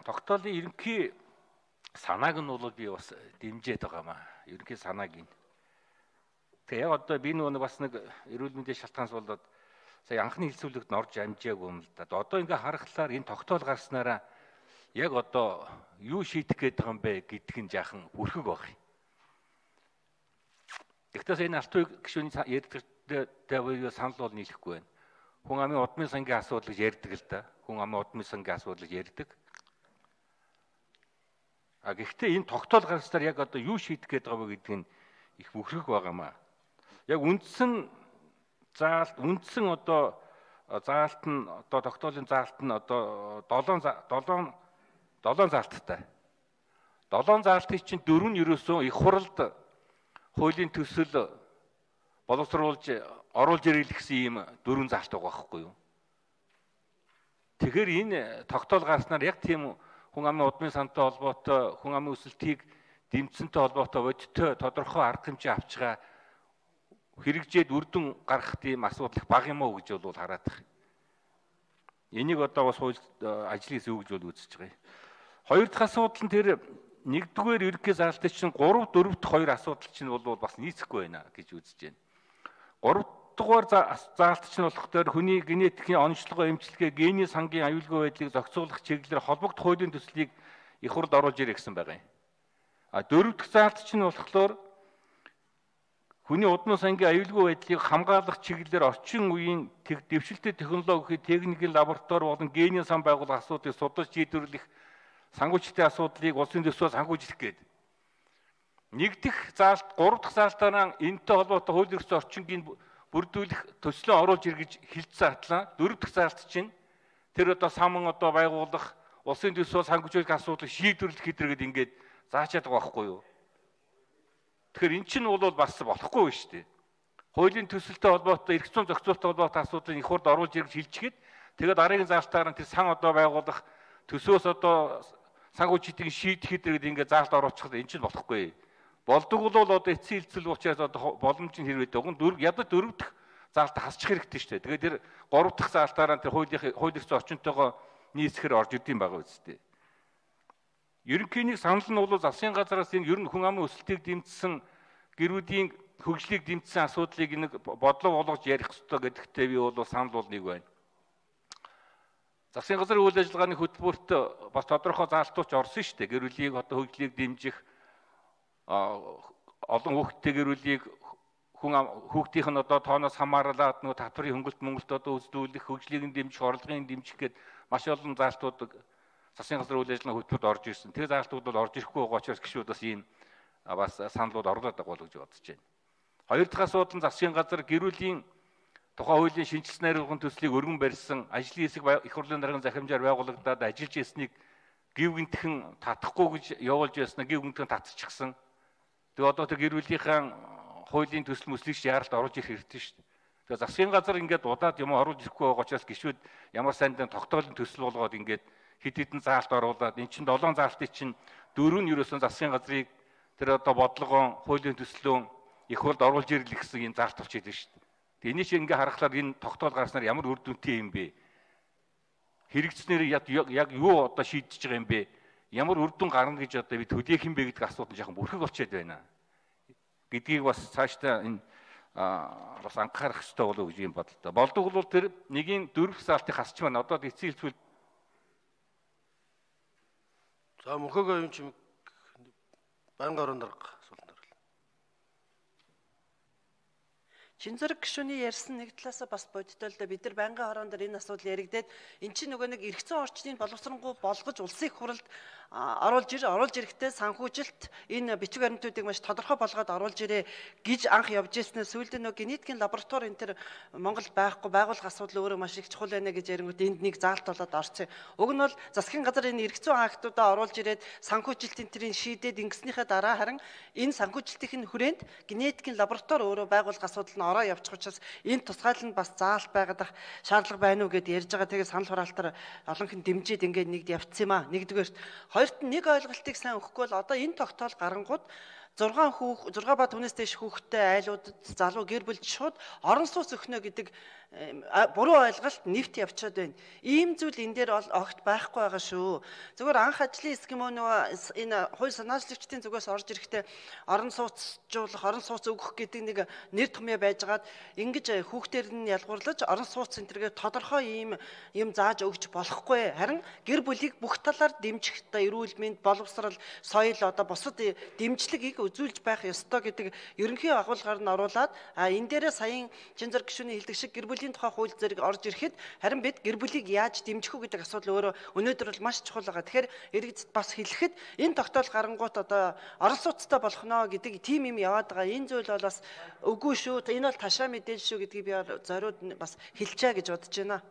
тогтоолын ерөнхий санааг нь бол би бас дэмжиж байгаамаа. Ерөнхий санааг нь. Тэгээ яг одоо би нэг бас нэг эрүүл мэндийн шалтгаанс болоод сая анхны хэлцүүлэгт орж амжаагүй юм л да. Одоо ингээ харахаар энэ тогтоол гарснараа яг одоо юу шийдэх гээд байгаа юм бэ гэдг нь жаахан бүрхэг баг. Гэхдээ энэ алтуй гишүүний ярьдагтай санал бол нийлэхгүй байна. Хүн амын удмын сангийн асуудал гэж ярьдаг л да. Хүн амын удмын сангийн асуудал гэж ярьдаг. Гэхдээ энэ тогтоол гаргаснаар яг одоо юу шийдэх гээд байгаа вэ гэдг нь их бүрхэг байгаамаа. Яг үндсэн заалт одоо заалт нь одоо тогтоолын заалт нь одоо 7 заалттай. 7 заалтыг чинь 4 нь ерөөсөө их хуралд хуулийн төсөл боловсруулж оруулж ирэх гэсэн ийм 4 заалт байгаа байхгүй юу? Тэгэхээр энэ тогтоол гарснаар яг тийм хүн амын удмын сантай холбоотой, хүн амын өсөлтийг дэмжсэнтэй холбоотой бодиттой тодорхой арга хэмжээ авч байгаа хэрэгжээд үрдэн гарах тийм асуудал их бага юм уу гэж бол хараад байна. Энийг одоо бас хууль ажлаас өгж бол үзэж байгаа. Хоёр дахь асуудал нь тэр нэгдүгээр ерөнхий заалтын чинь 3 4 дахь хоёр асуудал чинь бол бас нийцэхгүй байна гэж үзэж байна. 3 дугаар заалт чинь болохоор хүний генетикийн онцлогоо эмчилгээ, гений сангийн аюулгүй байдлыг зохицуулах чиглэлээр холбогдох хуулийн төслийг их хурлд оруулж ирэх гэсэн байгаа юм. 4 дахь заалт чинь болохоор хүний удмын сангийн аюулгүй байдлыг хамгаалах чиглэлээр орчин үеийн дэвшилтэт технологийн техникийн лаборатори болон генийн сан байгуулах асуудлыг судлаж шийдвэрлэх санхүүжилтийн асуудлыг улсын төсвөөс санхүүжлэх гэдэг. Нэг дэх заалт, 3 дахь заалтаараа энэтэй холбоотой хууль эрхцэн орчингийн бүрдүүлэх төслөө оруулж ир гэж хэлсэн атлаа. 4 дахь заалт чинь тэр одоо саман одоо байгуулах улсын төсвөөс санхүүжүүлэх асуудлыг шийдвэрлэх хэдрэгэд ингээд заачаад байгаа байхгүй юу? Тэгэхээр эн чинь бол бас болохгүй шүү дээ. Хуулийн төсөлтэй холбоотой, эрх зүйн зохицуулалттай холбоотой асуудлыг их хурд оруулж ирж хэлчихээд тэгээд дараагийн заалтаар нь тэр сан одоо байгуулах төсвөөс одоо санхүүжилтийг шийдэх хэдрэгэд ингээд заалт оруулчихад эн чинь болохгүй. Болдог бол одоо эцсийн хэлцэл учраас одоо боломж нь хэрвээ дөгөн ядаж 4 дахь заалт хасчих хэрэгтэй шүү дээ. Тэгээд тэр 3 дахь заалтаараа тэр хууль эрх зүйн орчинтойгоо нийцэхээр орж идэм байгаа үстэй. Ерөнхийний санал нь бол засгийн газраас энэ ер нь хүн амын өсөлтийг дэмжсэн гэрүүдийн хөгжлийг дэмжсэн асуудлыг нэг бодлого болгож ярих ёстой гэдэгтээ би бол санал бол нэг байна. Засгийн газрын үйл ажиллагааны хөтөлбөрт бас тодорхой заалтууч орсон шүү дээ. Гэрүүлийг одоо хөгжлийг дэмжих олон хүүхдтэй гэрүүлийг хүүхдийнх нь одоо тооноос хамаарлаад нөгөө татврын хөнгөлт Монголд одоо үзлүүлэх, хөгжлийг нь дэмжих, орлогын дэмжих гээд маш олон заалтууд засгийн газрын үйл ажиллагааны хөтөлбөрт орж ирсэн. Тэр заалтууд бол орж ирэхгүй байгаа учраас гişүүд бас ийм бас саналууд оруулаад байгаа гэж бодож байна. Хоёр дахь асуудал нь засгийн газар гэрүүлийн тухайн хуулийн шинжилсэн найруулгын төслийг өргөн барьсан, ажлын хэсэг их хурлын даргын захимжаар байгуулагдаад ажиллаж ирснийг гів гинтхэн татахгүй гэж явуулж байснаа гів гинтхэн татчихсан. Тэгээ одоо тэр гэрүүлийнхэн хуулийн төсөл мөслийг яаралт оруулж ирэх хэрэгтэй шүү дээ. Тэгээ засгийн газар ингээд удаад юм оруулж ирэхгүй байгаа учраас гişүүд ямар сайндаа тогтоолын төсөл болгоод ингээд хэд хэдэн заалт оруулаад эн чинь 7 заалтыг чинь 4 нь ерөөсөн засгийн газрыг тэр одоо бодлогоо хуулийн төслөө их хурлд оруулж ирлэх гэсэн энэ заалт болчиход байна шүү дээ. Тэгээ энийг ингээ харахаар энэ тогтоол гарснаар ямар үр дүнтэй юм бэ? Хэрэгцснээр яг юу одоо шийдэж байгаа юм бэ? Ямар үр дүн гарна гэж одоо бид хөдөөх юм бэ гэдэг асуудал жоохон бүрхэг болчиход байна. Гэдгийг бас цаашдаа энэ бас анхаарах хэрэгтэй болов уу гэж юм бодлоо. Болдог бол тэр нэгийн 4 заалтыг хасч байна. Одоо эцсийн хэлцүүл. За мөнхөөгөө юм чим байнгын орон дарга асуулт хариулна. Шинзэрэг гишүүний ярьсан нэг талаасаа бас бодиттой л да бид нар байнгын хорон дээр энэ асуудал яригдээд эн чинь нөгөө нэг эрх зүйн орчныг боловсронгуй болгож улсын их хурлд оруулж ирэхдээ санхүүжилт энэ бичиг баримтуудыг маш тодорхой болгоод оруулж ирээ гэж анх явж ирснээр сүүлдээ нөгөө генетикийн лаборатори энэ төр Монголд байхгүй байгуулах асуудал өөрөө маш их чухал байна гэж ярингууд энд нэг заалт болоод орсон. Уг нь бол засгийн газар энэ эрх зүйн актуудаа оруулж ирээд санхүүжилтийн тэрийг шийдээд ингэснийхээ дараа харин энэ санхүүжилтийн хүрээнд генетикийн лаборатори өөрөө байгуулах асуудал нь ороо явчих учраас энэ тусгайл нь бас заалт байгаад шаардлага байна уу гэд ярьж байгаа. Тэгээ санал хураалтаар олон хэн дэмжиж ингээд нэгд явцсан юм аа. Нэгдүгээр хоёрт нь нэг ойлголтыг сайн өгөхгүй бол одоо энэ тогтоол гарангууд 6 ба түүнээс дээш хүүхэдтэй айлуудад залуу гэр бүлд шууд орон сууц өгнө гэдэг буруу ойлголт нэвт явчихад байна. Ийм зүйл энэ дээр огт байхгүй байгаа шүү. Зүгээр анх ажлын хэсэг юм уу нөгөө энэ хууль санаачлагчдын зүгээс орж ирэхдээ орон сууцжуулах, орон сууц өгөх гэдэг нэг нэр томьёо байжгаад ингэж хүүхдээр нь ялгуурлаж орон сууц центргээ тодорхой юм зааж өгч болохгүй. Харин гэр бүлийг бүх талаар дэмжих эрүүл мэнд, боловсрал, соёл одоо бусад дэмжлэгийг үзүүлж байх ёстой гэдэг ерөнхий агуулгаар нь оруулаад энэ дээрээ саяын Чинзэр гишүүний хэлдэг шиг гэр бүлийн тухай хууль зэрэг орж ирэхэд харин бид гэр бүлийг яаж дэмжих үү гэдэг асуудал өөрөө өнөөдөр бол маш чухал байгаа. Тэгэхээр иргэдэд бас хэлэхэд энэ тогтоол гарангуут одоо орон сууцтай болох ноо гэдэг тим юм яваад байгаа. Энэ зүйл бол бас үгүй шүү. Энэ бол ташаа мэдээлэл шүү гэдгийг би зориуд бас хэлчихэ гэж бодож байна.